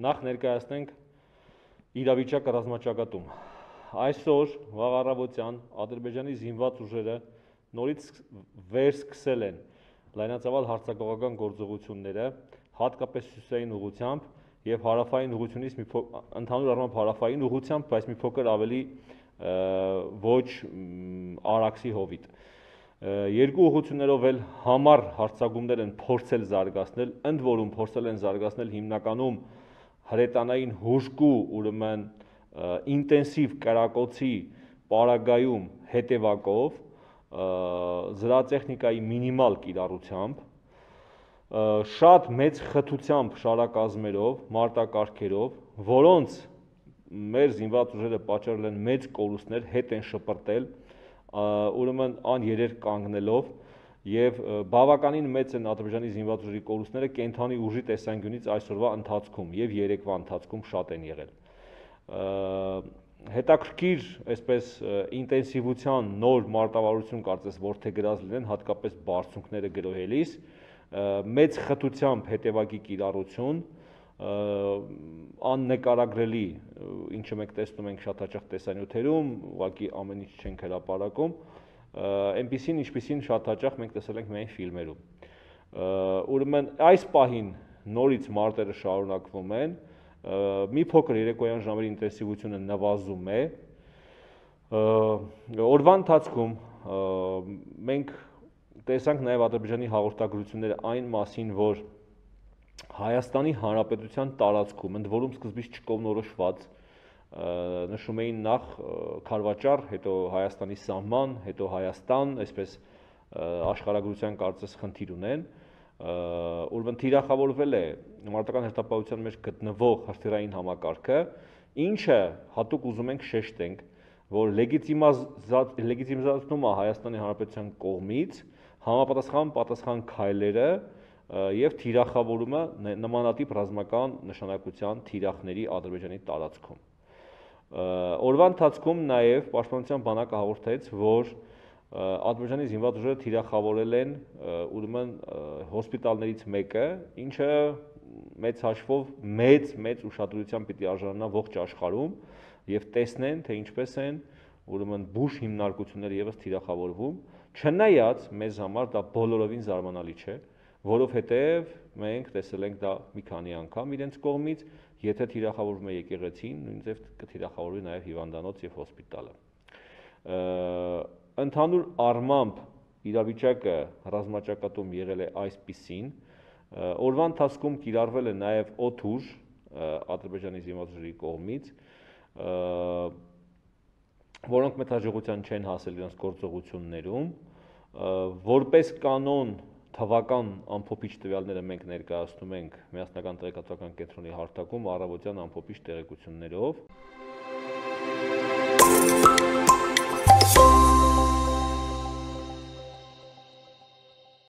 Նախ ներկայացնենք իրավիճակը ռազմաճակատում։ Այսօր վաղ առավոտյան Ադրբեջանի զինված ուժերը նորից վերսկսել են լայնածավալ հարձակողական գործողությունները, հատկապես հյուսիսային ուղղությամբ եւ հարավային ուղղությունից ընդհանուր առմամբ հարավային ուղղությամբ, բայց մի փոքր ավելի ոչ արաքսի հովիտ։ Երկու ուղղություններով էլ համառ հարձակումներ են փորձել զարգացնել, ընդ որում փորձել են զարգացնել հիմնականում հրետանային հուժկու, ուրեմն ինտենսիվ կրակոցի պարագայում հետևակով, զրահատեխնիկայի մինիմալ կիրառությամբ, շատ մեծ խտությամբ շարակազմերով, մարտակարգերով, որոնց մեր զինված ուժերը պատճառել են մեծ կորուստներ, հետ են շպրտել, ուրեմն աներերկ կանգնելով եւ բավականին մեծ են Ադրբեջանի զինված ուժերի կորուստները կենթանի ուժի տեսանկյունից այսօրվա ընթացքում եւ երեկվա ընթացքում շատ են եղել։ Հետաքրքիր, այսպես ինտենսիվության նոր մարտավարություն կարծես որդեգրած լինեն, հատկապես բարձունքները գրոհելիս, մեծ խտությամբ հետևակի կիրառություն, աննկարագրելի, ինչը մենք տեսնում ենք շատ հաճախ տեսանյութերում, ուղղակի ամեն ինչ չենք հրապարակում, այնպիսին, ինչպիսին շատ հաճախ մենք տեսել ենք միայն ֆիլմերում։ Ուրեմն այս պահին նորից մարտերը շարունակվում են, մի փոքր երեկոյան ժամերի ինտենսիվությունը նվազում է։ Օրվա ընթացքում մենք տեսանք նաև Ադրբեջանի հաղորդագրությունները այն մասին, որ Հայաստանի Հանրապետության տարածքում, ընդ որում սկզբից չկողմնորոշված, նշում էին նախ Քարվաճառ, հետո Հայաստանի սահման, հետո Հայաստան, այսպես աշխարհագրության կարծես խնդիր ունեն, ուրեմն թիրախավորվել է մարտական հերթապահության մեջ գտնվող հրթիռային համակարգը, ինչը հատուկ ուզում ենք շեշտենք, որ լեգիտիմացնում է Հայաստանի Հանրապետության կողմից համապատասխան քայլերը եւ թիրախավորումը նմանատիպ ռազմական նշանակության թիրախների Ադրբեջանի տարածքում։ Օրվա ընթացքում նաեւ Պաշտպանության բանակը հաղորդեց, որ Ադրբեջանի զինված ուժերը թիրախավորել են ուրեմն հոսպիտալներից մեկը, ինչը մեծ հաշվով մեծ ուշադրության պիտի արժանանա ողջ աշխարհում եւ տեսնեն, թե ինչպես են ուրեմն բուժ հիմնարկությունները եւս թիրախավորվում, չնայած մեզ համար դա բոլորովին զարմանալի չէ, որովհետև մենք տեսել ենք դա մի քանի անգամ իրենց կողմից, եթե թիրախավորվում է եկեղեցին, նույնիսկ կթիրախավորվի նաև հիվանդանոց եւ հոսպիտալը։ Ընդհանուր առմամբ իրավիճակը ռազմաճակատում եղել է այսպիսին, օրվա ընթացքում կիրառվել է նաև օդուժ Ադրբեջանի զինված ուժերի կողմից, որոնք մեծ հաջողության չեն հասել իրենց գործողություններում, որպես կանոն թվական ամփոփիչ տվյալները մենք ներկայացնում ենք Միասնական տեղեկատվական կենտրոնի հարթակում առավոտյան ամփոփիչ տեղեկություններով։